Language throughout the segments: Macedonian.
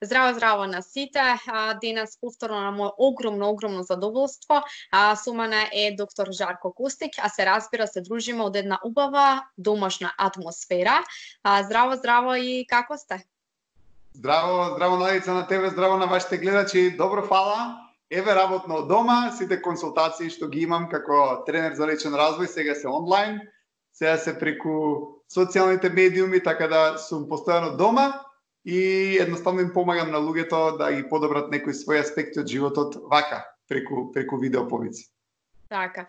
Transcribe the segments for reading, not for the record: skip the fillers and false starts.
Здраво, здраво на сите. Денес повторно на моје огромно задоволство. Со мене е доктор Жарко Костик, а се разбира се дружиме од една убава домашна атмосфера. Здраво и како сте? Здраво Надица на тебе, здраво на вашите гледачи. Добро, фала. Еве работно од дома, сите консултации што ги имам како тренер за личен развој сега се онлайн, сега се преку социјалните медиуми, така да сум постојано дома и едноставно им помагам на луѓето да ги подобрат некои своји аспекти од животот вака, преку видеоповици. Така.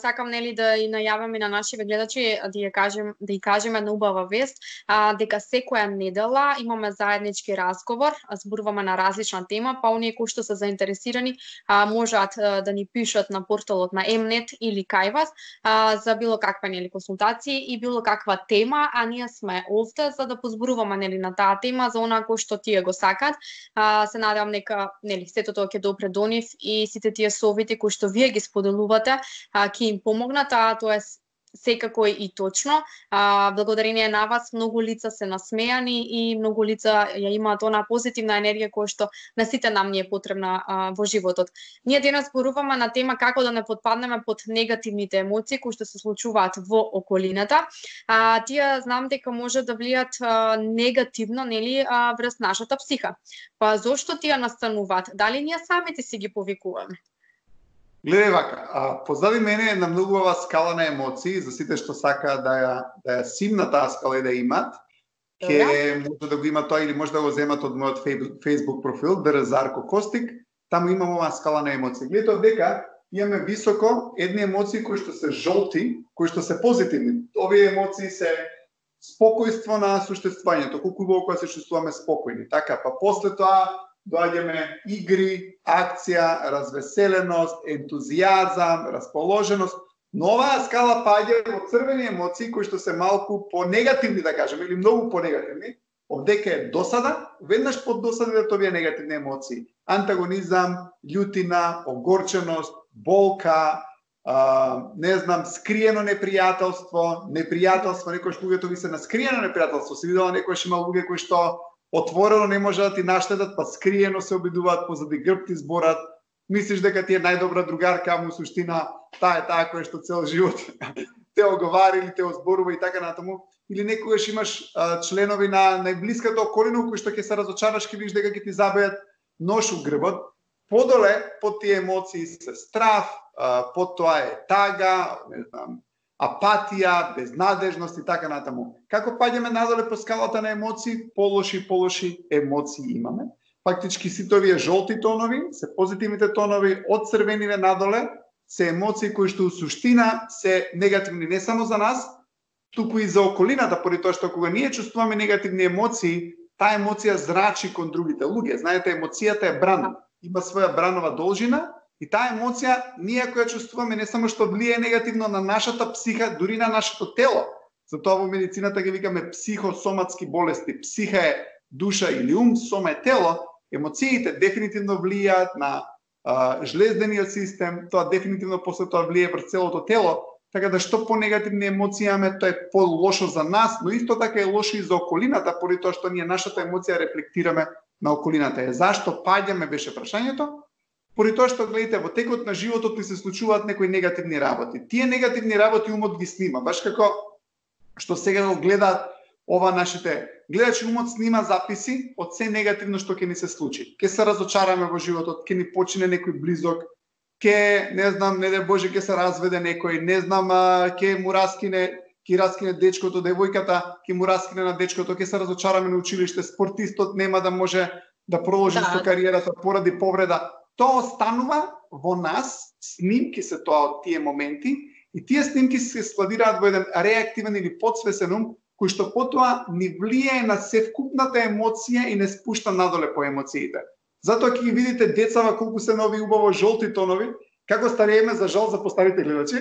Сакам да и најавам и на нашите гледачи да ја кажем една убава вест, дека секоја недела имаме заеднички разговор, зборуваме на различна тема, па оние кои што се заинтересирани можат да ни пишат на порталот на Mnet или кај вас за било каква консултации и било каква тема, а ние сме овде за да позборуваме на таа тема за онаа кој што тие го сакат. Се надевам дека сето тоа ќе допре до нив и сите тие совети кои што вие ги споделувате ќе им помогнат, тоа е секако и точно. Благодарение на вас многу лица се насмејани и многу лица ја имаат онаа позитивна енергија која што на сите нам ни е потребна во животот. Ние денес зборуваме на тема како да не потпаднеме под негативните емоции кои што се случуваат во околината. Тие знам дека може да влијат негативно, врз нашата психа. Па зошто тие настануваат? Дали ние самите си ги повикуваме? Гледај вака, позади мене е една многу убава скала на емоции, за сите што сакаат да ја симна таа скала и да имат, ќе може да го има тоа или може да го земат од мојот Facebook профил, Жарко Костик, таму имам оваа скала на емоции. Гледате дека имаме високо едни емоции кои што се жолти, кои што се позитивни. Овие емоции се спокојство на суштествувањето, колку убаво кога се чувствуваме спокојни. Така, па после тоа доаѓаме игри, акција, развеселеност, ентузијазам, расположеност. Но оваа скала паѓа во црвени емоции кои што се малку понегативни, да кажеме, или многу понегативни. Овдека е досада, веднаш под досада овие негативни емоции. Антагонизам, љутина, огорченост, болка, скриено непријателство, некојаш луѓето ви се на скриено непријателство. Се видела некојаш има луѓе кои што отворено не може да ти наштедат, па скриено се обидуваат, позади грб ти зборат, мислиш дека ти е најдобра другарка, а му суштина таа која што цел живот те оговари или те озборува и така натаму. Или некогаш имаш членови на најблиската околина кои што ќе се разочараш, ќе видиш дека ќе ти забијат нож у грбот. Подоле под тие емоции се страв, под тоа е тага, апатија, безнадежност и така натаму. Како паѓаме надоле по скалата на емоции, полоши емоции имаме. Фактички сите овие жолти тонови, се позитивните тонови, од црвениве надоле, се емоции кои што у суштина се негативни не само за нас, туку и за околината, поради тоа што кога ние чувствуваме негативни емоции, таа емоција зрачи кон другите луѓе. Знаете, емоцијата е бран, има своја бранова должина. И таа емоција, ние која чувствуваме не само што влијае негативно на нашата психа, дури на нашето тело. Затоа во медицината ги викаме психосоматски болести. Психа е душа или ум, сома е тело. Емоциите дефинитивно влијаат на жлездениот систем, тоа дефинитивно после тоа влијае врз целото тело. Така да што понегативни емоции имаме, тоа е по-лошо за нас, но исто така е лошо и за околината, поради тоа што ние нашата емоција рефлектираме на околината. Зашто паѓаме беше прашањето? Поради тоа што гледате во текот на животот ни се случуваат некои негативни работи. Тие негативни работи умот ги снима, баш како што сега го гледаат ова нашите гледачи, умот снима записи од се негативно што ќе ни се случи. Ќе се разочараме во животот, ќе ни почине некој близок, ќе не дај Боже ќе се разведе некој, ќе му раскине дечкото, девојката, ќе му раскине на дечкото, ќе се разочараме на училиште, спортистот нема да може да продолжи со кариерата поради повреда. Тоа останува во нас, снимки се тоа од тие моменти и тие снимки се складираат во еден реактивен или подсвесен ум кој што потоа ни влијае на севкупната емоција и не спушта надоле по емоциите. Затоа ќе ги видите децава колку се нови убаво жолти тонови, како старееме за жал за постарите гледачи,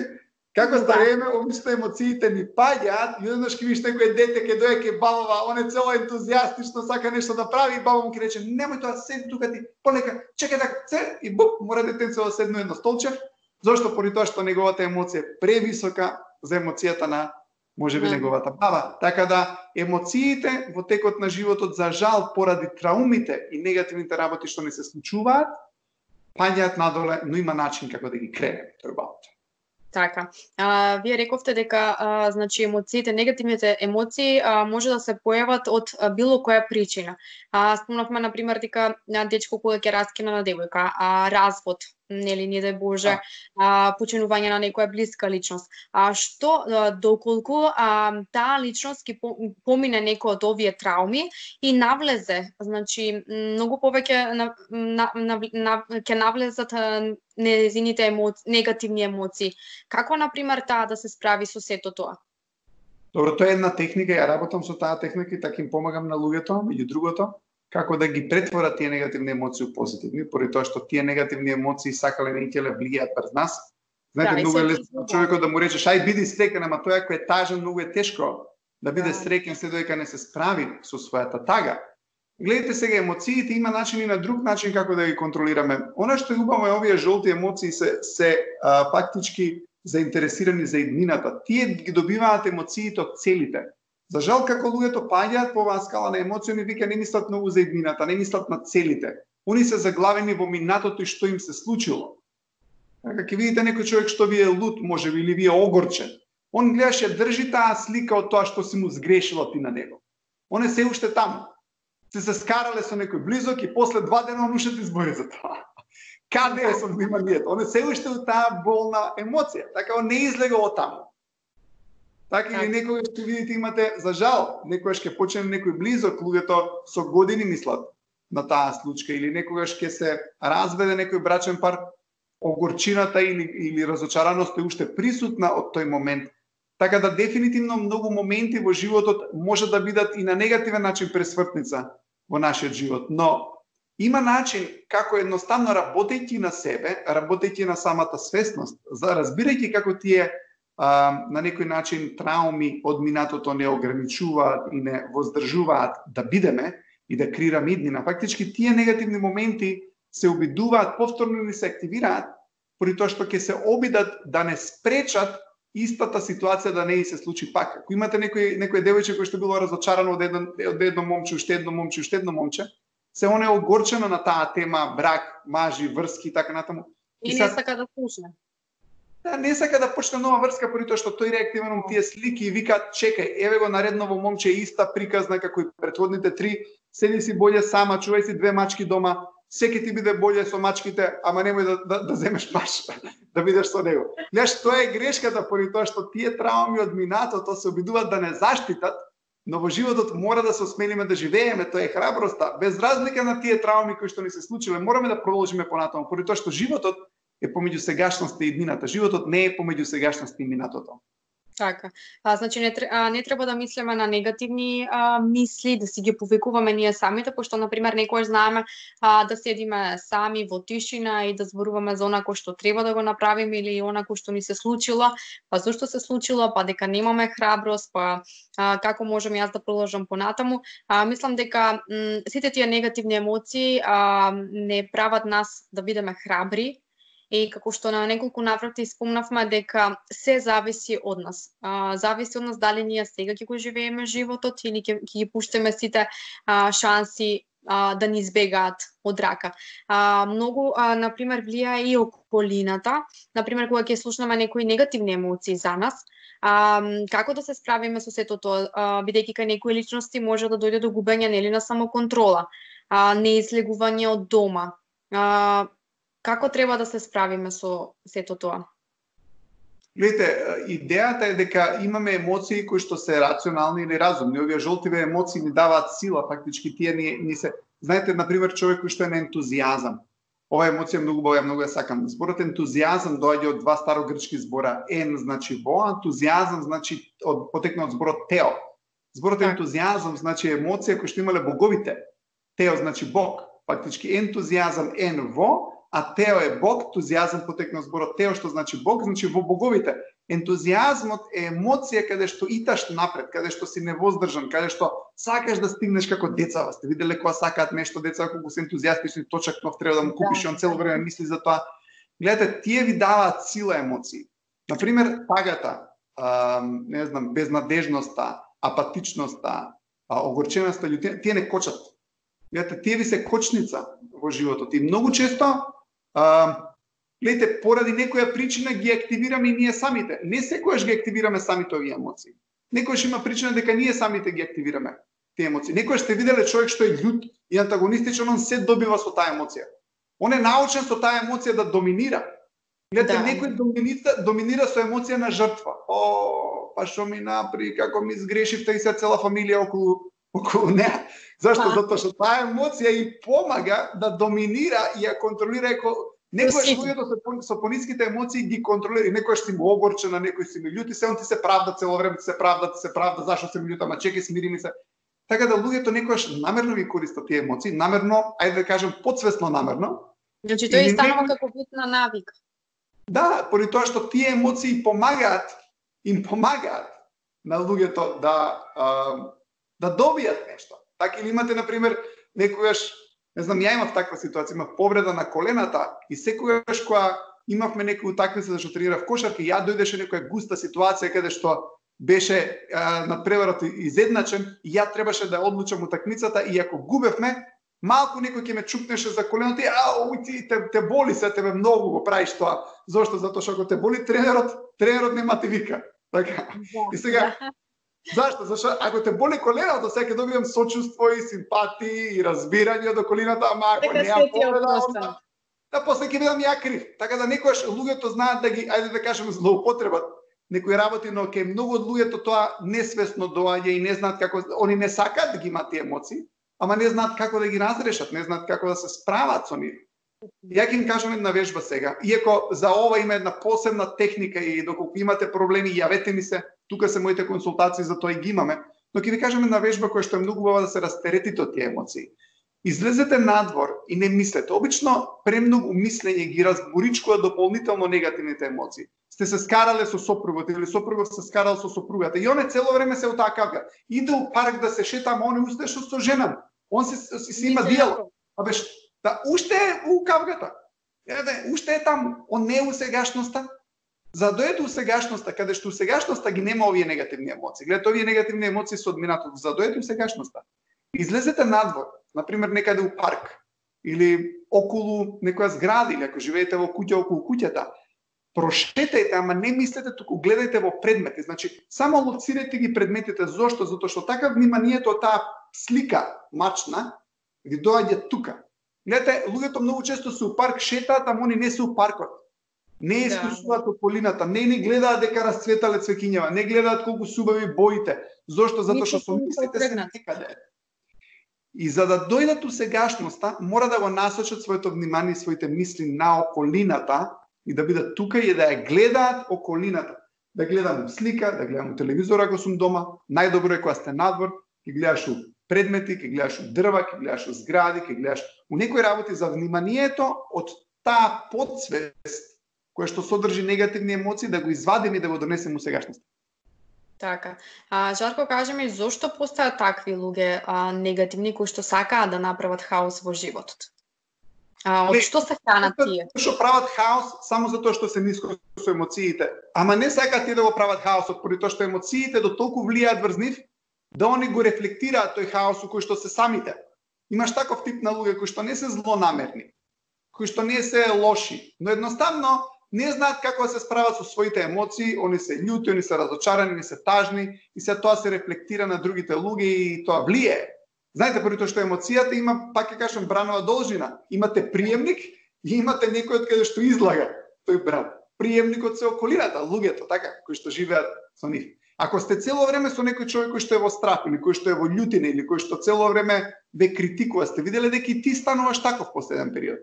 како старееме обично емоциите ни паѓаат и еднаш ќе видиш некој дете ќе дојде ќе бабава, он е цело ентузијастично, сака нешто да прави и баба му ќе рече немој тоа, седи тука ти, полека, чекај така, и буп, мора детенцето да седне едно столче. Зошто? Поради тоа што неговата емоција е превисока за емоцијата на можеби неговата баба. Така да емоциите во текот на животот, за жал, поради траумите и негативните работи што не се случуваат, паѓаат надоле, но има начин како да ги кренеме торбата. Така. Вие рековте дека значи емоциите, негативните емоции може да се појават од било која причина. Спомнавме на пример дека дечко кога ќе раскина на девојка, развод, нели, не дај Боже, починување на некоја блиска личност. Што доколку таа личност ќе помине некој од овие трауми и навлезе, значи многу повеќе ќе навлезат незините негативни емоции. Како, например, таа да се справи со сето тоа? Добро, тоа е една техника, ја работам со таа техника и така им помагам на луѓето, меѓу другото, како да ги претворат тие негативни емоции у позитивни, поради тоа што тие негативни емоции сакале не ќе влијаат пред нас. Знаете, многу е лесно човекот да му речеш ај биди среќен, ама тоа кој е тажен, многу е тешко да биде среќен се додека не се справи со својата тага. Гледате сега, емоциите има начини на друг начин како да ги контролираме. Она што е убаво е овие жолти емоции се фактички заинтересирани за иднината. Тие ги добиваат емоциите од целите. За жал, како луѓето паѓаат по оваа скала на емоции, они вика не мислат многу за иднината, не мислат на целите. Они се заглавени во минатото и што им се случило. Така ќе видите некој човек што ви е лут, можеби, или ви е огорчен. Он гледаше, држи таа слика од тоа што си му сгрешила ти на него. Он е се уште таму. Се скарале со некој близок и после 2 дена он уште ти збори за тоа. Каде е со вниманието? Он е се уште у таа болна емоција. Така он не излега од таму. Така или некогаш ќе видите имате, за жал, некогаш ќе почне некој близок, луѓето со години мислат на таа случка, или некогаш ќе се разведе некој брачен пар, огорчината или разочараноста е уште присутна од тој момент. Така да дефинитивно многу моменти во животот може да бидат и на негативен начин пресвртница во нашиот живот, но има начин како едноставно работејќи на себе, работејќи на самата свесност, разбирајќи како тие на некој начин трауми од минатото не ограничуваат и не воздржуваат да бидеме и да креираме иднина. Фактички тие негативни моменти се обидуваат повторно ни се активираат, поради тоа што ќе се обидат да не спречат истата ситуација да не се случи пак. Ако имате некој девојче кој што било разочарано од едно момче, уште едно момче, уште едно момче, се он е огорчено на таа тема брак, мажи, врски и така натаму. И не сака да почне. Да, не сака да почне нова врска, поради тоа што тој реактивно тие слики и вика чекај, еве го наредново момче иста приказна како и претходните 3, седи си боле сама, чувај си 2 мачки дома, секи ти биде боле со мачките, ама немој да земеш маш, да бидеш со него. Гледаш, тоа е грешката, поради тоа што тие трауми од минатото се обидуваат да не заштитат, но во животот мора да се осмелиме да живееме, тоа е храброста. Без разлика на тие трауми кои што ни се случиле, мораме да продолжиме понатаму, поради тоа што животот е помеѓу сегашноста и иднината. Животот не е помеѓу сегашноста и минатото. Така. Значи не треба да мислиме на негативни мисли, да си ги повикуваме ние самите, пошто например некојаш знаеме да седиме сами во тишина и да зборуваме за она кој што треба да го направиме или она кој што ни се случило, па зошто се случило, па дека немаме храброст, па како можам јас да продолжам понатаму. Мислам дека сите тие негативни емоции не прават нас да бидеме храбри. И како што на неколку наврати спомнавме дека се зависи од нас. Зависи од нас дали ние сега ќе го живееме животот или ќе ги пуштиме сите шанси да ни избегаат од рака. Многу, например, влијае и околината. Например, кога ќе слушнеме некои негативни емоции за нас, како да се справиме со сето тоа, бидејќи кај некои личности може да дојде до губење нели на самоконтрола, неизлегување од дома. Како треба да се справиме со сето тоа? Гледате, идејата е дека имаме емоции кои што се рационални или разумни. Овие жолтиве емоции ни даваат сила, фактички тие ни се... Знаете, например, човек кој што е на ентузијазам. Ова емоција е многу убава, многу ја сакам. Зборот ентузијазам доаѓа од 2 старогрчки збора. Значи во, ентузијазам значи потекна од зборот тео. Зборот ентузијазам значи емоција која што имале боговите. Тео значи Бог. Фактички ентузијазам во, а тео е Бог, ентузијазам потекна од зборот тео, што значи Бог, значи во боговите. Ентузијазмот е емоција каде што иташ напред, каде што си невоздржан, каде што сакаш да стигнеш како децава. Сте виделе кога сакаат нешто деца, кога се ентузијастични, точак нов треба да му купиш и он цело време мисли за тоа. Гледате, тие ви даваат сила емоции. Например, тагата. не знам, безнадежноста, апатичноста, огорченоста, тие не кочат. Гледате, тие ви се кочница во животот. И многу често, гледате, поради некоја причина ги активираме и ние самите. Не секојаш ги активираме самите овие емоции. Некојаш има причина дека ние самите ги активираме тие емоции. Некојаш сте виделе човек што е љут и антагонистичен, он се добива со таа емоција. Он е научен со таа емоција да доминира. Гледате, некој доминира со емоција на жртва. Па што ми напри, како ми сгрешивте и се цела фамилија околу неа. Зашто? Затоа што таа емоција и помага да доминира и ја контролира. Некојаш луѓето со пониските емоции ги контролира. Некојаш си му огорчена, некој си ми љути, се он ти се правда цело време, ти се правда, зашто се ми љута, ма чекај, смири ми се. Така да луѓето некојаш намерно ги користат тие емоции, намерно, ајде да кажем подсвесно намерно. Значи тој станува како вид на навик. Да, поради тоа што тие емоции им помагаат на луѓето да добијат нешто. Така или имате, например, некојаш, не знам, ја имав таква ситуација, имав повреда на колената и секогаш кога имавме некој утакмица зашто тренирав кошарка, ја дојдеше некоја густа ситуација каде што беше надпреварот изедначен и ја требаше да одлучам утакмицата и ако губевме, малку некој ќе ме чупнеше за коленото и те боли се, тебе многу го правиш тоа. Зошто? Затоа што ако те боли тренерот нема ти вика. Така. И сега зашто? Зашто ако те боли коленото, сега ќе добијам сочувство и симпатии и разбирање до колената, ама ако неа повреда, да после ќе бидам ја крив. Така да некојаш луѓето знаат да ги, ајде да кажеме, злоупотребат некои работи, но ке многу од луѓето тоа несвесно доаѓа и не знаат како, они не сакаат да ги имаат тие емоции, ама не знаат како да ги разрешат, не знаат како да се справат со нив. Ја ќе им кажам една вежба сега. Иако за ова има една посебна техника и доколку имате проблеми, јавете ми се, тука се моите консултации, за тоа и ги имаме, но ќе ви кажам една вежба која што е многу убава да се растеретите од тие емоции. Излезете надвор и не мислете. Обично премногу мислење ги разборичкува дополнително негативните емоции. Сте се скарале со сопругот или сопругот се скарал со сопругата и он цело време се утакавга. Иде у парк да се шета, ама он е устешо со жена. Он си има диалог. Да, уште е у кавгата. Уште е таму. Он не е у сегашноста. За да дојде у сегашноста, каде што у сегашноста ги нема овие негативни емоции. Гледате, овие негативни емоции се од минатото. За да дојде у сегашноста. Излезете надвор, например некаде у парк или околу некоја зграда или ако живеете во куќа околу куќата. Прошетајте, ама не мислете туку, гледајте во предмети. Значи, само лоцирајте ги предметите. Зошто? Затоа што така вниманието од таа слика мачна ви доаѓа тука. Гледате, луѓето многу често се у парк шетаат, ама они не се у паркот. Не искусуваат околината, не гледаат дека расцветале цвеќињава, не гледаат колку субави боите. Зошто? Затоа што со мислите се некаде. И за да дојдат у сегашноста, мора да го насочат своето внимание и своите мисли на околината и да бидат тука и да ја гледаат околината. Да гледам слика, да гледам телевизор ако сум дома, најдобро е кога сте надвор, ќе гледаш у предмети, ќе гледаш у дрва, ќе гледаш у згради, ќе гледаш у некои работи за вниманието од таа подсвест која што содржи негативни емоции, да го извадиме и да го донесеме у сегашноста. Така. Жарко, кажи ми, зошто постојат такви луѓе негативни кои што сакаат да направат хаос во животот? Од што се хранат тие? Што прават хаос само затоа што се ниско со емоциите. Ама не сакаат тие да го прават хаосот, поради тоа што емоциите до толку влијаат врз нив, да они го рефлектираат тој хаос кој што се самите. Имаш таков тип на луѓе кои што не се злонамерни, кои што не се лоши, но едноставно не знаат како да се справат со своите емоции, они се љути, они се разочарани, они се тажни и се тоа се рефлектира на другите луѓе и тоа влијае. Знаете, поради тоа што емоцијата има, пак ќе кажам, бранова должина. Имате приемник и имате некој од каде што излага тој бран. Приемникот се околината, луѓето, така, кои што живеат со нив. Ако сте цело време со некој човек кој што е во страх или кој што е во љутина или кој што цело време ве критикува, сте виделе дека и ти стануваш таков после еден период.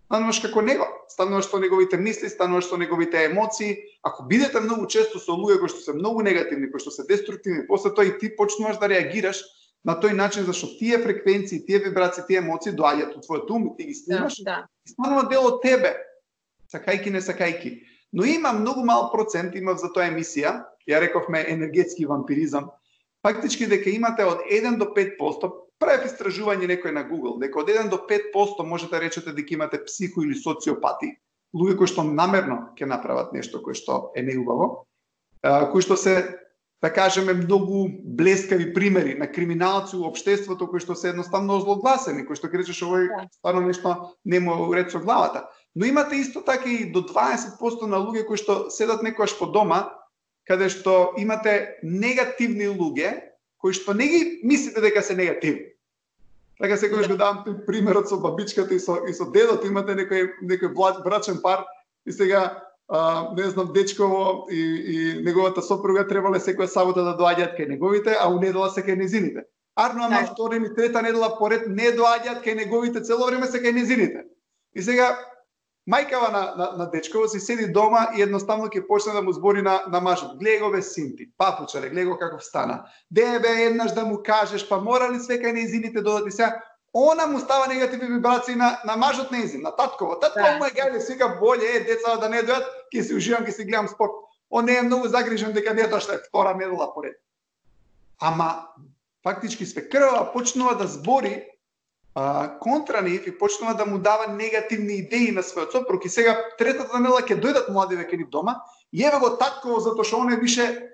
Стануваш како него, стануваш со неговите мисли, стануваш со неговите емоции. Ако бидете многу често со луѓе кои што се многу негативни, кои што се деструктивни, после тоа и ти почнуваш да реагираш на тој начин зашто тие фреквенции, тие вибрации, тие емоции доаѓаат од твојот ум и ти ги снимаш и станува дел од тебе, сакајки не сакајки. Но има многу мал процент, имав за тоа емисија, ја рековме енергетски вампиризам, фактички дека имате од 1 до 5%, правев истражување некој на Google, дека од 1 до 5% можете да речете дека имате психо или социопати, луѓе кои што намерно ќе направат нешто кој што е неубаво, кои што се, да кажеме, многу блескави примери на криминалци у општеството кои што се едноставно озлогласени, кои што ќе речеш овој стварно нешто не му ред со главата. Но имате исто така и до 20% на луѓе кои што седат некојаш по дома, каде што имате негативни луѓе, кои што не ги мислите дека се негативни. Така секогаш го давам примерот со бабичката и со дедото, имате некој брачен пар и сега не знам, дечково и неговата сопруга требале секоја сабота да доаѓаат кај неговите, а у недела се кај незините. Арно, ама втора или трета недела поред не доаѓаат кај неговите, цело време се кај незините. И сега мајкава на дечково си седи дома и едноставно ќе почне да му збори на мажот. Глеј го бе синти, папучаре, глеј го каков стана. Бе еднаш да му кажеш, па мора ли све кај незините додати сега? Она му става негативни вибрации на мажот незин, на татково. Татково му е гајле, сега боле децата да не дојат, ќе си уживам, ќе си гледам спорт. Он не е многу загрижен дека не дошла втора недела поред. Ама фактички свекрва почнува да збори контра нив и почнува да му дава негативни идеи на својот сопруг. И сега третата недела ќе дојдат младиве кај нив дома, и еве го татково затоа што он е више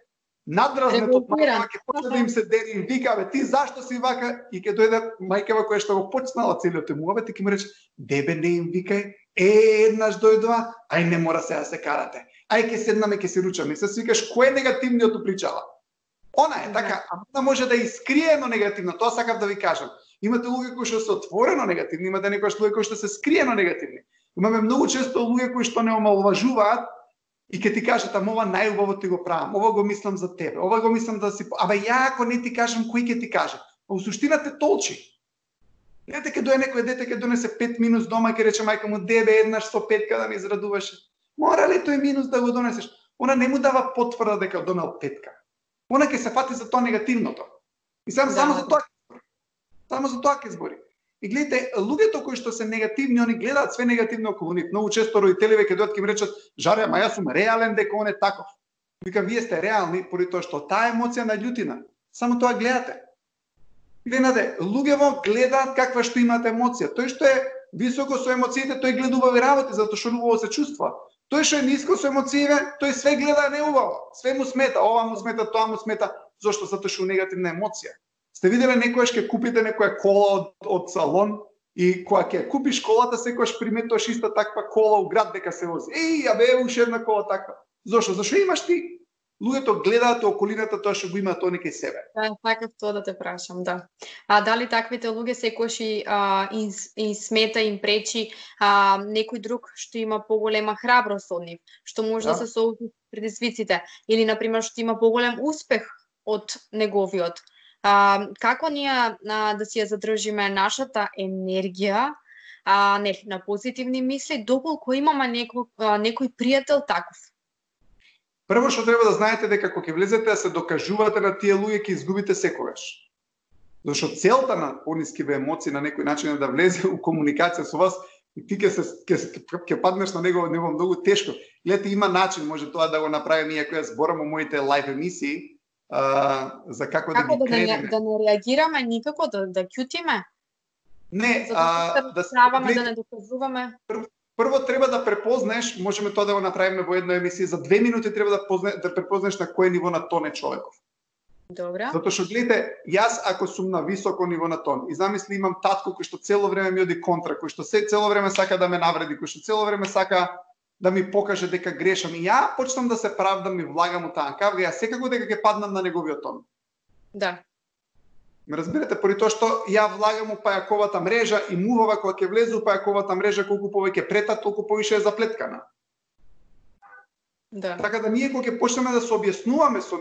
надразнет од мајкава, ќе почне да им се дери и вика, бе, ти зашто си вака? И ќе дојде мајкава која што го почнала целиот муабет и ќе му рече, дебе не им викај, еднаш дојдова, ај не мора сега да се карате. Ај ќе седнаме, ќе се ручаме. И се свикаш кој е негативниот причала? Она е така, а може да искрие едно негативно, тоа сакав да ви кажам. Имате луѓе кои што се отворено негативни, имате некојаш луѓе кои што се скриено негативни. Имаме многу често луѓе кои што не омаловажуваат и ќе ти кажат, ама ова најубаво ти го правам, ова го мислам за тебе, ова го мислам да си... Абе ја ако не ти кажам, кој ќе ти каже? Па у суштина те толчи. Дете ќе дое некој дете ќе донесе 5 минус дома и ќе рече мајка му, дебе еднаш со петка да ми израдуваше. Мора ли тој минус да го донесеш? Она не му дава потврда дека донел петка. Она ќе се фати за тоа негативното. И само за тоа. Само за тоа ќе збори. И гледате, луѓето кои што се негативни, они гледаат све негативно околу нив. Многу често родителиве ќе дојдат ќе им речат: "Жаре, ама јас сум реален дека он е таков." Вика, вие сте реални поради тоа што таа емоција на љутина. Само тоа гледате. Гледате, луѓево гледаат каква што имаат емоција. Тој што е високо со емоциите, тој гледа убави работи затоа што убаво се чувства. Тој што е ниско со емоциите, тој све гледа неубаво. Све му смета, ова му смета, тоа му смета. Зошто? Затоа што негативна емоција. Сте виделе некојаш ќе купите некоја кола од салон и кога ќе купиш колата секогаш приметуваш иста таква кола у град дека се вози. Еј, абе уште една кола таква. Зошто? Зашто имаш ти? Луѓето гледаат околината тоа што го имаат они кај себе. Да, сакав тоа да те прашам, да. А дали таквите луѓе секогаш и смета им пречи некој друг што има поголема храброст од нив, што може да се соочи со предизвиците или на пример што има поголем успех од неговиот. Како ние да си ја задржиме нашата енергија на позитивни мисли, доколку имаме некој пријател таков? Прво што треба да знаете дека кога ќе влезете да се докажувате на тие луѓе ќе изгубите секогаш. Зашто целта на понискиве емоции на некој начин е да влезе у комуникација со вас и ти ќе паднеш на него многу тешко. Гледате, има начин, може тоа да го направиме иако ја зборам во моите лайв емисии. За како да ги крене. Да не реагираме никако, да ќутиме? Не, да не доказуваме. Прво треба да препознаеш, можеме тоа да го направиме во една емисија, за 2 минути треба да препознаеш на кое ниво на тон е човеков. Добра. Затоа што гледате, јас ако сум на високо ниво на тон и замисли имам татко кој што цело време ми оди контра, кој што цело време сака да ме навреди, кој што цело време сака да ми покаже дека грешам и ја почнам да се правдам и влагам у таа кавга, ја секако дека ќе паднам на неговиот тон. Да. Ме разбирате, поради тоа што ја влагам у пајаковата мрежа и мувава кога ќе влезе у пајаковата мрежа, колку повеќе прета, толку повише е заплеткана. Да. Така да ние кога ќе почнеме да се објаснуваме со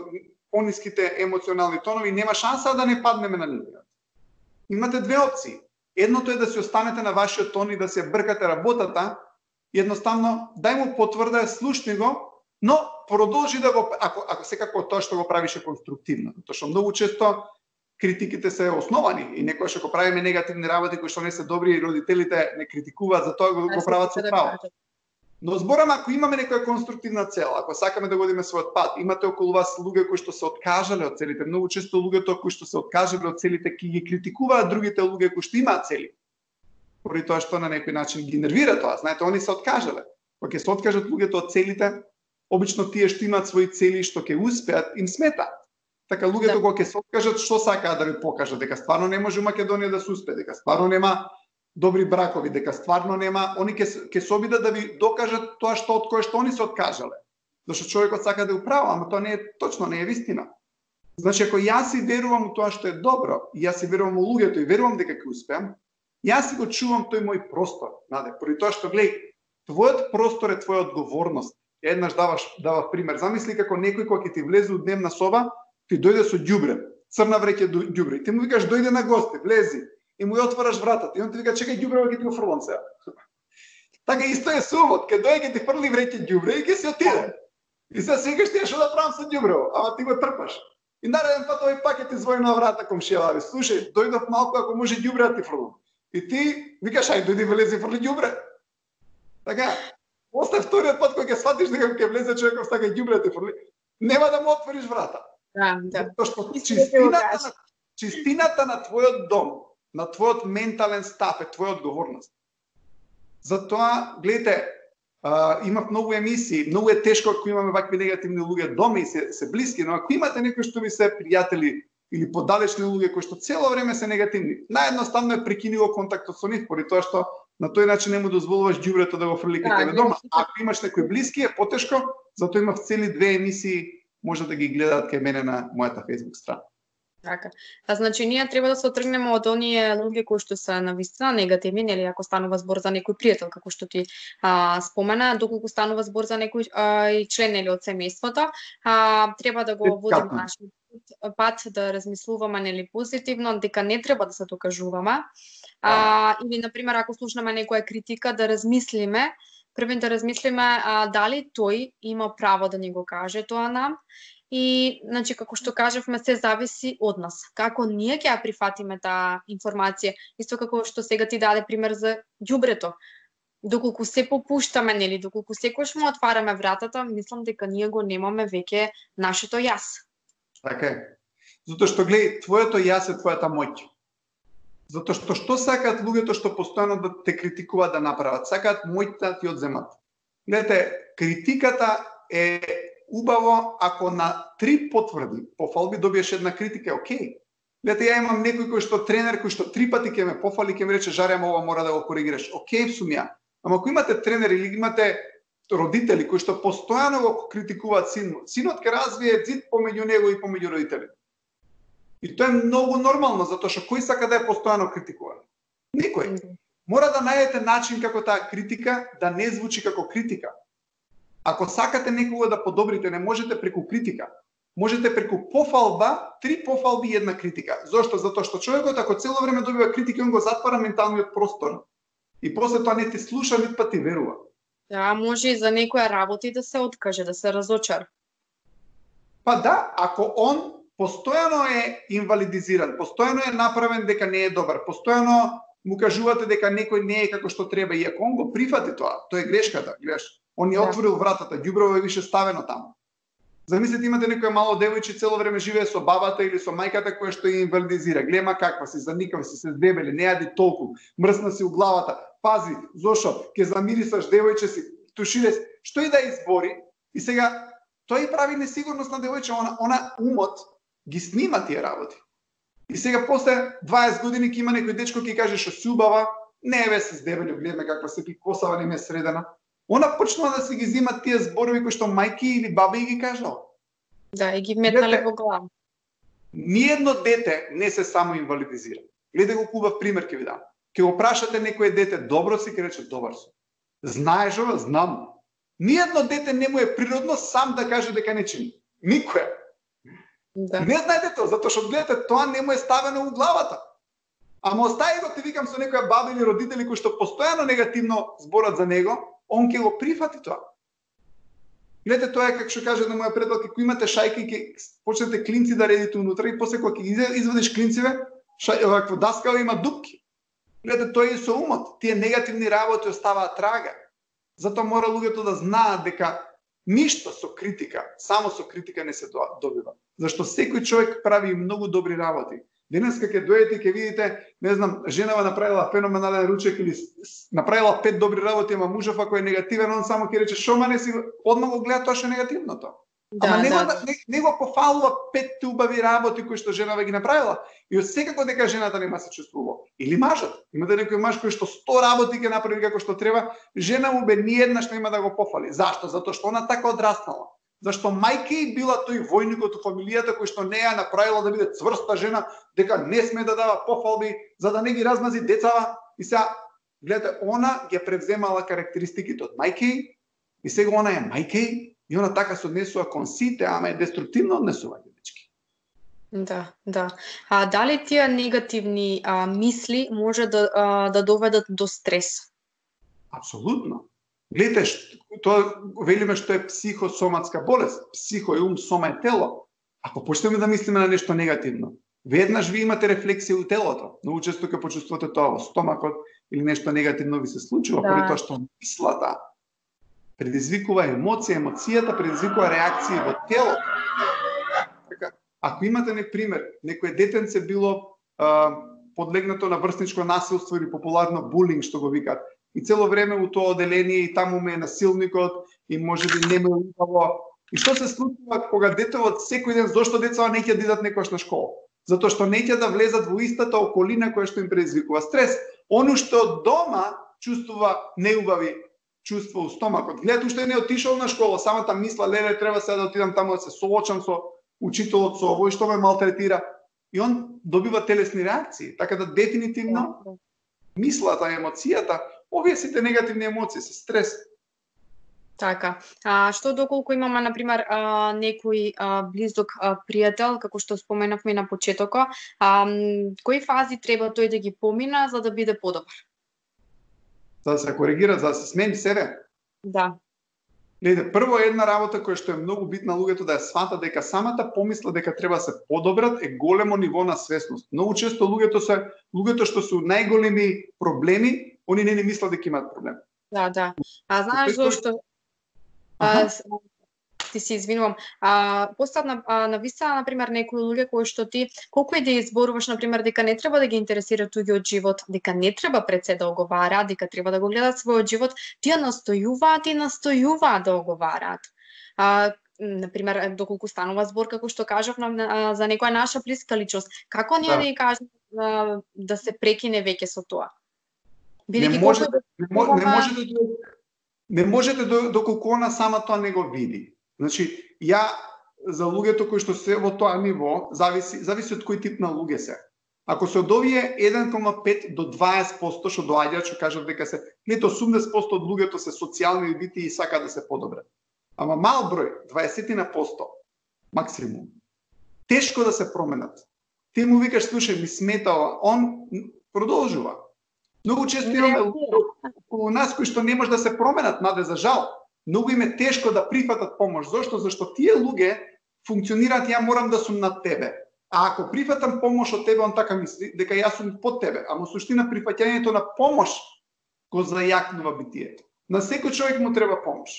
пониските емоционални тонови, нема шанса да не паднеме на нив. Имате две опции. Едното е да си останете на вашиот тон и да се бркате работата. Едноставно, дај му потврда, слушни го, но продолжи да го, ако секако тоа што го правише конструктивно. Тоа што многу често критиките се основани и некојаш ако правиме негативни работи кои што не се добри и родителите не критикуваат, за тоа го прават со право. Но зборам, ако имаме некоја конструктивна цел, ако сакаме да годиме својот пат, имате околу вас луѓе кои што се откажале од целите, многу често луѓето кои што се откажале од целите ќе ги критикуваат другите луѓе кои што имаат цели. Поради тоа што на некој начин ги нервира тоа. Знаете, они се откажале. Кога ќе се откажат луѓето од целите, обично тие што имаат своји цели што ќе успеат им сметаат. Така луѓето кога ќе се откажат, што сакаат да ви покажат, дека стварно не може Македонија да се успее, дека стварно нема добри бракови, дека стварно нема, они ќе се обидат да ви докажат тоа што од кое што они се откажале. Зашто човекот сака да е управа, ама тоа не е точно, не е вистина. Значи ако јас си верувам у тоа што е добро, и јас си верувам у луѓето и верувам дека ќе успеам, јас си го чувам тој мој простор, наде, поради тоа што гледај, твојот простор е твоја одговорност. Еднаш даваш пример. Замисли како некој кога ќе ти влезе у дневна соба, ти дојде со ѓубре, црна вреќа ѓубре. Ти му викаш дојде на гости, влези и му ја отвараш вратата и он ти вика чекај ѓубрево ќе ти го фрлам сега. Така исто е сумот, ќе дојде ќе ти фрли вреќа ѓубре и ќе си отиде. И сега си викаш ти што да правам со ѓубрево, ама ти го трпаш. И нареден пат овој пак ќе ти звони на врата комшија, слушај, дојдов малку ако може ѓубре да ти фрлам. И ти викаш ај дојди влези фрли ѓубре. Така, после вториот пат кога ќе сватиш дека ќе влезе човеков сака ѓубре да ти фрли, нема да му отвориш врата. Да. Затоа што чистината на твојот дом, на твојот ментален став е твоја одговорност. Затоа, гледате, имав многу емисии, многу е тешко ако имаме вакви негативни луѓе дома и се блиски, но ако имате некои што ви се пријатели или подалечни луѓе кои што цело време се негативни, наједноставно е прекини го контактот со нив, поради тоа што на тој начин не му дозволуваш ѓубрето да го фрли кај тебе дома. Ако имаш некои блиски е потешко, затоа имав цели 2 емисии, може да ги гледаат кај мене на мојата Facebook страна. Така. Значи ние треба да се отргнеме од оние луѓе кои што се навистина негативни, нели ако станува збор за некој пријател, како што ти спомена, доколку станува збор за некој член нели од семејството, треба да го водиме нашиот пат да размислуваме нели позитивно, дека не треба да се докажуваме. Или на пример ако слушнеме некоја критика да размислиме, првен да размислиме дали тој има право да ни го каже тоа нам. И, значи, како што кажавме, се зависи од нас. Како ние ќе ја прифатиме таа информација, исто како што сега ти даде пример за ѓубрето. Доколку се попуштаме, нели, доколку секојаш му отвараме вратата, мислам дека ние го немаме веќе нашето јас. Така е. Затоа што гледај, твоето јас е твојата моќ. Затоа што сакаат луѓето што постојано да те критикуваат да направат, сакаат моќта да ти одземат. Гледате, критиката е убаво ако на 3 потврди, пофалби добиеш една критика, е окей. Гледате, ја имам некој кој што тренер кој што 3 пати ќе ме пофали, ќе ми рече жаре, ова мора да го коригираш. Окей, сум ја. Ама ако имате тренер или имате родители кои што постојано го критикуваат синот ќе развие зид помеѓу него и помеѓу родителите. И тоа е многу нормално, затоа што кој сака да е постојано критикуван? Никој. Мора да најдете начин како таа критика да не звучи како критика. Ако сакате некого да подобрите, не можете преку критика. Можете преку пофалба, 3 пофалби и една критика. Зошто? Затоа што човекот ако цело време добива критика, он го затвара менталниот простор. И после тоа не ти слуша, нит па ти верува. Да, може и за некоја работа да се откаже, да се разочар. Па да, ако он постојано е инвалидизиран, постојано е направен дека не е добар, постојано му кажувате дека некој не е како што треба, и ако он го прифати тоа е грешката, гледаш. Он ја отворил вратата, ѓубрево е више ставено таму. Замислете, имате некоја мало девојче цело време живее со бабата или со мајката која што ја инвалидизира. Глема каква си, заникава си, се здебели, не јади толку, мрсна си у главата. Пази, зошо, ќе замирисаш девојче си, тушире си, што и да избори. И сега тој прави несигурност на девојче, она умот ги снима тие работи. И сега после 20 години ќе има некој дечко ќе каже што си убава, не бе се здебели, гледаме каква се косава не ме средена. Она почнува да се ги земат тие зборови кои што мајки или баби ги кажал. Да, и ги метнале во глава. Ниедно дете не се само инвалидизира. Гледај го хубав пример ќе ви дам. Ќе го прашате некое дете добро си, ќе рече добар сум. Знаеш ова? Знам. Ниедно дете не му е природно сам да каже дека не чини. Никој. Да. Не знаете тоа, затоа што гледате тоа не му е ставено у главата. Ама остави го, ти викам, со некоја баба или родители кои што постојано негативно зборат за него, он ќе го прифати тоа. Гледате, тоа е како што каже на моја пријателка, кога имате шајки, ќе почнете клинци да редите унутра и после кога ќе извадиш клинциве, овакво даскава има дупки. Гледате, тоа е со умот. Тие негативни работи оставаат трага. Затоа мора луѓето да знаат дека ништо со критика, само со критика не се добива. Зашто секој човек прави многу добри работи. Денеска ќе дојдете и ќе видите, не знам, женава направила феноменален ручек или направила 5 добри работи, ама мужов ако е негативен, он само ќе рече шо ма не си, одма го гледа тоа што е негативното. Ама не го пофалува 5 убави работи кои што женава ги направила. И секако дека жената нема се чувствува. Или мажот. Имате некој маж кој што 100 работи ќе направи како што треба, жена му бе ни еднаш нема да го пофали. Зашто? Затоа што она така одраснала. Зашто мајка и била тој војникот у фамилијата кој што не ја направила да биде цврста жена, дека не сме да дава пофалби за да не ги размази децава. И сега гледате, она ги превземала карактеристиките од мајка и сега она е мајка и она така се однесува кон сите, ама е деструктивно однесување, дечки. Да. А дали тие негативни мисли може да доведат до стрес? Апсолутно. Гледате, тоа велиме што е психосоматска болест. Психо е ум, сома е тело. Ако почнеме да мислиме на нешто негативно, веднаш ви имате рефлексија у телото. Многу често ќе почувствувате тоа во стомакот или нешто негативно ви се случува, поради тоа што мислата предизвикува емоција, емоцијата предизвикува реакции во телото. Така, ако имате пример, некој детенце било подлегнато на врсничко насилство или популарно булинг што го викаат, и цело време у тоа оделение и таму ме е насилникот и можеби нема убаво. И што се случува кога детето секој ден, зошто децата не ќе идат некојаш на школа? Затоа што не ќе да влезат во истата околина која што им предизвикува стрес. Оно што од дома чувствува неубави чувство у стомакот. Гледате, уште не отишол на школа, самата мисла, леле, треба сега да отидам таму да се соочам со учителот, со овој што ме малтретира. И он добива телесни реакции. Така да дефинитивно мислата, емоцијата, овие сите негативни емоции се стрес. Така. Што доколку имаме, например, некој близок пријател, како што споменавме на почетокот, кои фази треба тој да ги помина за да биде подобар? За да се коригира, за да се смени себе? Да. Гледе, прво една работа која што е многу битна луѓето да ја сватат дека самата помисла дека треба се подобрат е големо ниво на свесност. Многу често луѓето што се најголеми проблеми, они не мислат дека имаат проблем. Да. Знаеш зошто? Ти се извинувам. Постат нависа, например, некои луѓе кои што ти, колку и да изборуваш, например, дека не треба да ги интересира туѓиот живот, дека не треба пред се да оговараат, дека треба да го гледат својот живот, тие настојуваат да оговараат. Например, доколку станува збор, како што кажав, за некоја наша блиска личност, како ние да ја кажеме да се прекине веќе со тоа? Не можете доколку она сама тоа не го види. Значи, ја за луѓето кои што се во тоа ниво, зависи од кој тип на луѓе се. Ако се од овие 1,5 до 20% што доаѓаат, што кажат дека се, гледате 80% од луѓето се социјални бити и сакаат да се подобрат. Ама мал број, 20% максимум, тешко да се променат. Ти му викаш, слушај, ми сметава, он продолжува. Многу често имаме околу нас кои што не може да се променат, наде за жал. Многу им е тешко да прифатат помош. Зошто? Зашто тие луѓе функционираат, ја морам да сум над тебе. А ако прифатам помош од тебе, он така мисли дека јас сум под тебе. Ама суштина прифаќањето на помош го зајакнува битието. На секој човек му треба помош.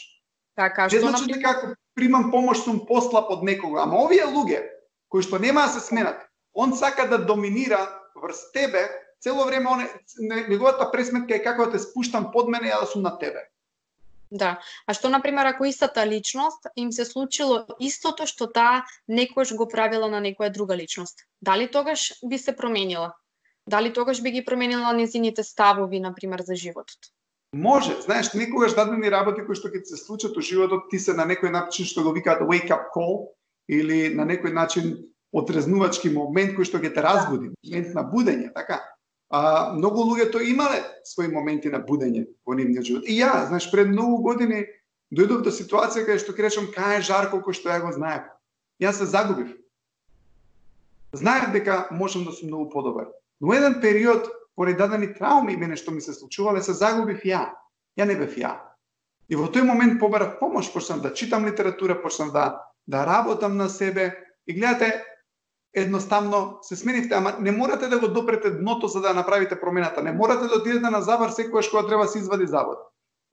Така, што значи дека ако примам помош сум послаб од некого. Ама овие луѓе кои што нема да се сменат, он сака да доминира врз тебе, цело време неговата пресметка е како да те спуштам под мене, ја да сум на тебе. Да. А што, например, ако истата личност им се случило истото што таа некојаш го правила на некоја друга личност? Дали тогаш би се променила? Дали тогаш би ги променила незините ставови, например, за животот? Може. Знаеш, некогаш дадени работи кои што ќе се случат во животот, ти се на некој начин што го викаат wake up call или на некој начин отрезнувачки момент кој што ќе те разбуди, момент на будење, така? Многу луѓето имале своји моменти на будење во нивниот живот. И ја, знаеш, пред многу години дојдов до ситуација каде што ќе речам кај е Жарко кој што ја го знаев. Јас се загубив. Знаев дека можам да сум многу подобар. Но еден период, поради дадени трауми и мене што ми се случувале, се загубив ја. Ја не бев ја. И во тој момент побарав помош, почнав да читам литература, почнав да работам на себе и гледате, едноставно се сменивте, ама не морате да го допрете дното за да направите промената. Не морате да отидете на завар секогаш кога треба да се извади завод.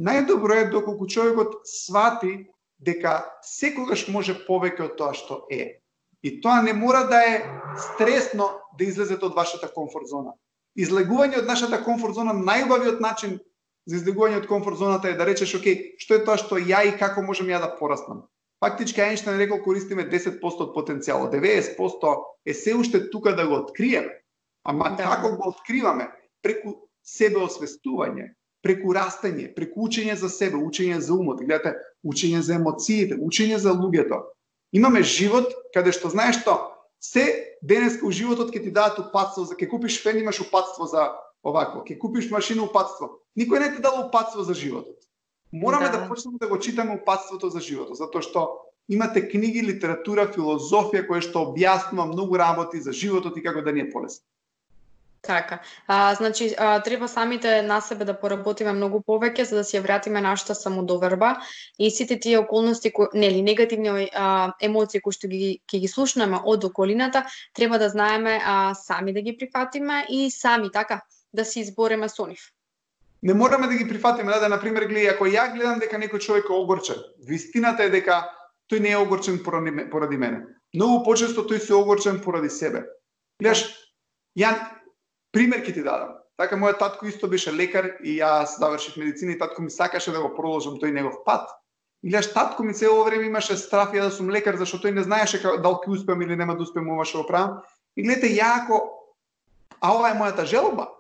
Најдобро е доколку човекот свати дека секогаш може повеќе од тоа што е. И тоа не мора да е стресно да излезете од вашата комфорт зона. Излегување од нашата комфорт зона, најубавиот начин за излегување од комфорт зоната е да речеш, окей, што е тоа што ја и како можам ја да пораснам. Фактички Ајнштајн рекол, користиме 10% од потенцијалот, 90% е се уште тука да го откриеме. Ама како го откриваме? Преку себеосвестување, преку растење, преку учење за себе, учење за умот, гледате, учење за емоциите, учење за луѓето. Имаме живот каде што знаеш што, се денеска у животот ќе ти дадат упатство, за ќе купиш фен имаш упатство за овако, ќе купиш машина упатство. Никој не ти дал упатство за животот. Мораме да почнеме да го читаме упатството за животот, затоа што имате книги, литература, филозофија која што објаснува многу работи за животот и како да ни е полесно. Така. Значи, треба самите на себе да поработиме многу повеќе за да си ја вратиме нашата самодоверба и сите тие околности, нели, негативни емоции кои што ќе ги слушнеме од околината, треба да знаеме сами да ги прифатиме и сами така да се избориме со нив. Не мораме да ги прифатиме, да, например, гледај, ако ја гледам дека некој човек е огорчен, вистината е дека тој не е огорчен поради мене. Многу почесто тој се огорчен поради себе. Гледаш, ја пример ќе ти дадам. Така, мојот татко исто беше лекар и јас завршив медицина и татко ми сакаше да го продолжам тој негов пат. И гледаш, татко ми цело време имаше страф ја да сум лекар, зашто тој не знаеше дали ќе успеам или нема да успеам ова што го правам. И гледате, ја ова е мојата желба,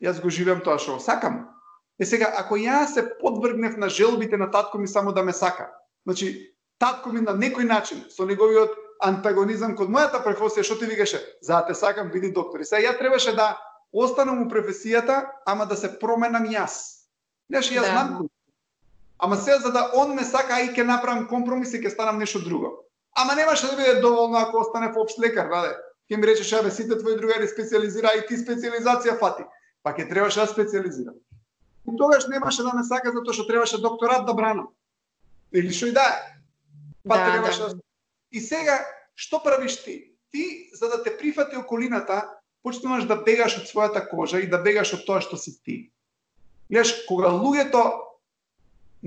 јас го живеам тоа што го сакам. Сега, ако јас се подвргнев на желбите на татко ми само да ме сака, значи, татко ми на некој начин, со неговиот антагонизам код мојата професија, што ти викаше, за да те сакам, биди доктор. И сега ја требаше да останам у професијата, ама да се променам јас. Знаеш, јас знам кој. Ама сега за да он ме сака, и ќе направам компромис и ќе станам нешто друго. Ама немаше да биде доволно ако остане општ лекар, раде. Ќе ми речеш, абе, сите твои другари специализира и ти специализација фати. Па ќе требаше да специализирам. И тогаш немаше да ме сака затоа што требаше докторат да бранам. Или што и да е. Па требаше да. И сега, што правиш ти? Ти, за да те прифати околината, почнуваш да бегаш од својата кожа и да бегаш од тоа што си ти. Гледаш, кога луѓето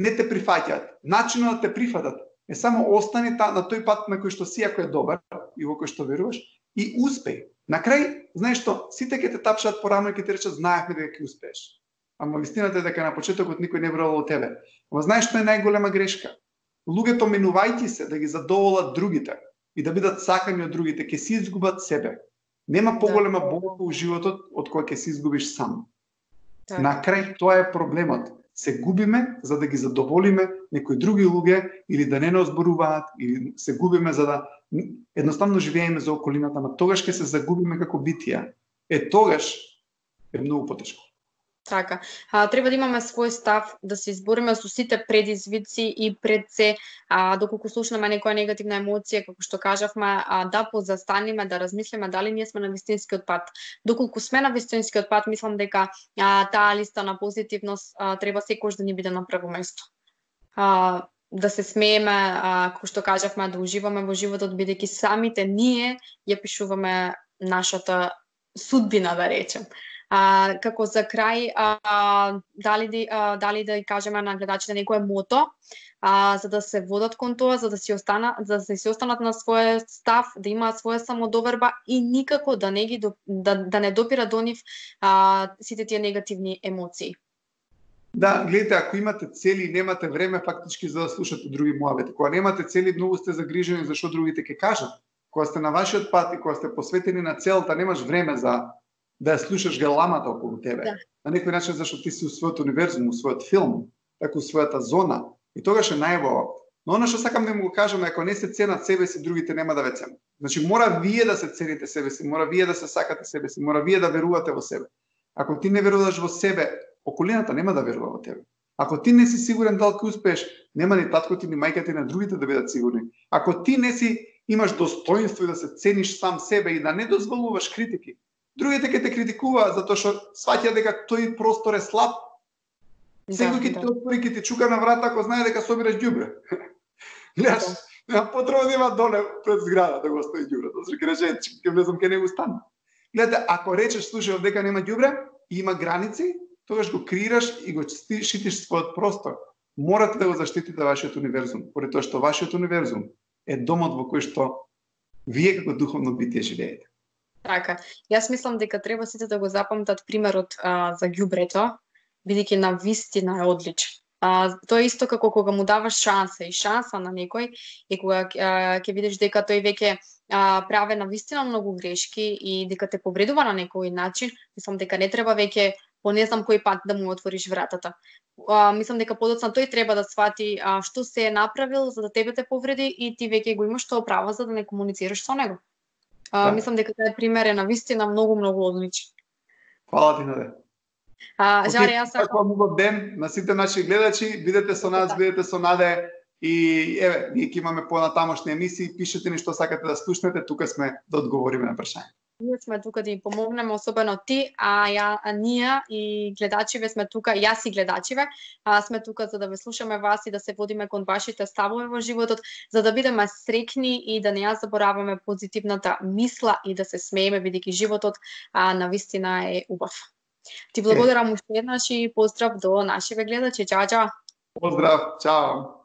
не те прифаќаат, начинот да те прифатат е само остани на тој пат на кој што си, ако е добар и во кој што веруваш, и успеј. На крај, знаеш што, сите ќе те тапшаат по рамо и ќе ти речат, знаевме дека ќе успееш. Ама вистината е дека на почетокот никој не верувал во тебе. Ама знаеш што е најголема грешка? Луѓето менувајќи се да ги задоволат другите и да бидат сакани од другите, ќе си изгубат себе. Нема поголема болка у животот од која ќе се изгубиш сам. На крај тоа е проблемот. Се губиме за да ги задоволиме некои други луѓе или да не озборуваат, или се губиме за да едноставно живееме за околината, ама тогаш ќе се загубиме како битија. Тогаш е многу потешко. Така. Треба да имаме свој став, да се избориме со сите предизвици и пред се, доколку слушнеме некоја негативна емоција, како што кажавме, да позастаниме, да размислиме дали ние сме на вистинскиот пат. Доколку сме на вистинскиот пат, мислам дека таа листа на позитивност треба секогаш да ни биде на прво место. Да се смееме, како што кажавме, да уживаме во животот, бидејќи самите ние ја пишуваме нашата судбина, да речем. Како за крај, дали да кажеме на гледачите некое мото, за да се водат кон тоа, за да си останат на свој став, да имаат своја самодоверба и никако да не допира до нив сите тие негативни емоции. Да, гледате, ако имате цели и немате време фактички за да слушате други муавети. Кога немате цели, многу сте загрижени за што другите ќе кажат. Кога сте на вашиот пат и кога сте посветени на целта, немаш време за да ја слушаш галамата околу тебе. Да. На некој начин зашто ти си у својот универзум, у својот филм, така у својата зона. И тогаш е најубаво. Но она што сакам да му го кажам, ако не се ценат себе си, другите нема да ве ценат. Значи мора вие да се цените себе си, мора вие да се сакате себе си, мора вие да верувате во себе. Ако ти не веруваш во себе, околината нема да верува во тебе. Ако ти не си сигурен дали ќе успееш, нема ни татко ти ни мајка ти на другите да бидат сигурни. Ако ти не си имаш достоинство и да се цениш сам себе и да не дозволуваш критики, другите ќе те критикуваат затоа што сваќаат дека тој простор е слаб. Секој ќе те отвори, ќе ти чука на врата ако знае дека собираш ѓубре. Гледаш, нема потреба да има доле пред зграда да го стои ѓубрето. Зашто ќе рече, ќе влезам ке него стан. Гледате, ако речеш слушај дека нема ѓубре и има граници, тогаш го креираш и го шитиш својот простор. Морате да го заштитите вашиот универзум, поради тоа што вашиот универзум е домот во кој што вие како духовно битие живеете. Така, јас мислам дека треба сите да го запамтат примерот за ѓубрето, бидејќи на вистина е одличен. Тоа е исто како кога му даваш шанса и шанса на некој и кога ќе видиш дека тој веќе праве на вистина многу грешки и дека те повредува на некој начин, мислам дека не треба веќе по не знам кој пат да му отвориш вратата. Мислам дека подоцна тој треба да свати што се е направил за да тебе те повреди и ти веќе го имаш тоа право за да не комуницираш со него. Мислам дека тој пример е на вистина многу одличен. Фала ти, Наде. Жаре, јас сакам убав ден на сите наши гледачи, бидете со нас, бидете со Наде и еве, ние ќе имаме понатамошни емисии, пишете ни што сакате да слушнете, тука сме да одговориме на прашања. Ние сме тука да им помогнеме, особено ти, ние и гледачиве сме тука, јас и гледачиве, сме тука за да ве слушаме вас и да се водиме кон вашите ставови во животот, за да бидеме среќни и да не ја забораваме позитивната мисла и да се смееме, бидејќи животот навистина е убав. Ти благодарам уште еднаш и поздрав до нашите гледачи. Чао, чао. Поздрав, чао.